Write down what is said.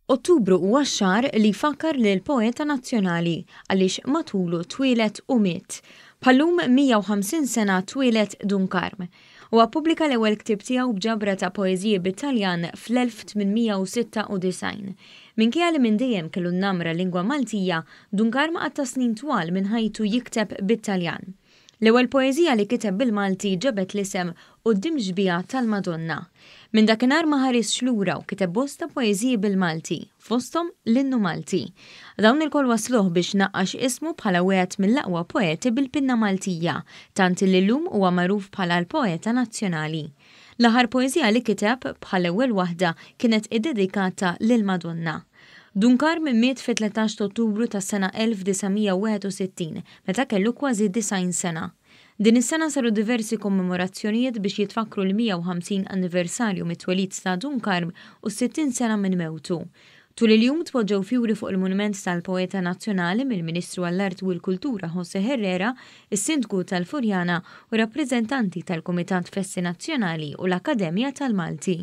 Ottubru huwa x-xahar li jfakkar lill-poeta nazzjonali għaliex matulu twieled u miet. Bħal-lum 150 sena twieled Dun Karm. Huwa ppubblika l-ewwel ktieb tiegħu b'ġabra ta' poeżiji bit-Taljan fl-1896. Minkejja li minn dejjem kellu n-namra lingwa Maltija, Dun Karm qatta' snin twal minn ħajtu jikteb bit-Taljan. L-ewwel poeżija li kiteb bil-Malti ġabet l-isem Quddiem Xbieha tal-Madonna. Minn dakinhar ma ħarisx lura u kiteb bosta poeżiji bil-Malti, fosthom l-Innu Malti. Dawn ilkoll wassluh biex naqqax ismu bħala wieħed mill-aqwa poeti bil-pinna Maltija, tant li llum huwa magħruf bħala l-poeta nazzjonali. L-aħħar poeżija li kiteb, bħall-ewwel waħda, kienet iddedikata lill-Madonna. Dun Karm miet fit-13 t'Ottubru tas-sena 1961, meta kellu kważi 90 sena. Din is-sena saru diversi kommemorazzjonijiet biex jitfakkru l-150 anniversarju mit-twelid ta' Dun Karm u s-60 sena minn mewtu. Tul il-jum tpoġġew fjuri fuq il-monument tal-poeta nazzjonali mill-Ministru għall-Arti u l-Kultura José Herrera, is-Sindku tal-Furjana u rappreżentanti tal-Kumitat Festi Nazzjonali u l-Akkademja tal-Malti.